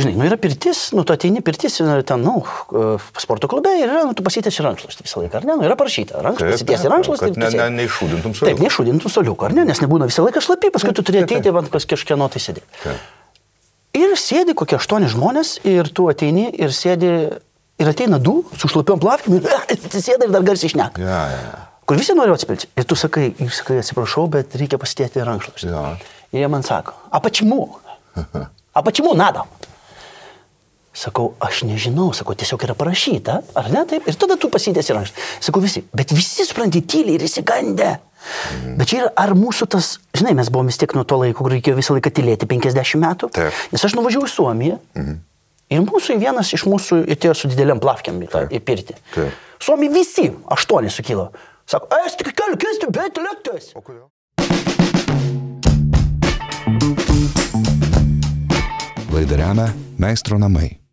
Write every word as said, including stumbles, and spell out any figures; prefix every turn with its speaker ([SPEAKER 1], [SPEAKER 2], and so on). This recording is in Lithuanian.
[SPEAKER 1] žinai, nu yra pirtis, nu tu ateini pirtis, ten, nu, sporto klube ir yra, nu tu pasitėsi rankšluostį visą laiką, ar ne? Nu yra parašyta, rankšluostį, pasitėsi rankšluostį.
[SPEAKER 2] Kad ne, ne, neišūdintum suoliuką.
[SPEAKER 1] Taip, neišūdintum suoliuką, ar ne? Nes nebūna visą laiką šlapi, paskui tu turi ateiti, man kažkieno tai sėdėti. Taip. Ir sėdi kokie aštuoni žmonės ir tu ateini ir sėdi, ir ateina du su šlapiom plavkim ir sėda ir dar garsiai šneka.
[SPEAKER 2] Ja, ja.
[SPEAKER 1] Kur visi nori atspilti. Ir tu sakai, ir sakai, atsiprašau, bet reikia pasitėti rankšluostį.
[SPEAKER 2] Ja.
[SPEAKER 1] Ir jie man sako, a почему? A почему надо? Sakau, aš nežinau, sakau, tiesiog yra parašyta, ar ne taip? Ir tada tu pasitėsi rankšluostį. Sakau, visi, bet visi supranti tyliai ir įsigandę. Mhm. Bet čia yra, ar mūsų tas, žinai, mes buvome vis tiek nuo to laiko, kur reikėjo visą laiką tylėti penkiasdešimt metų. Taip. Nes aš nuvažiavau į Suomiją. Mhm. Ir mūsų vienas iš mūsų atėjo su dideliam plavkiam į, į pirtį. Taip. Suomi visi, aštuoni sukilo. Sako, es tik keliu kesti, bet lėktas. O kodėl?
[SPEAKER 3] Laidą remia Meistro namai.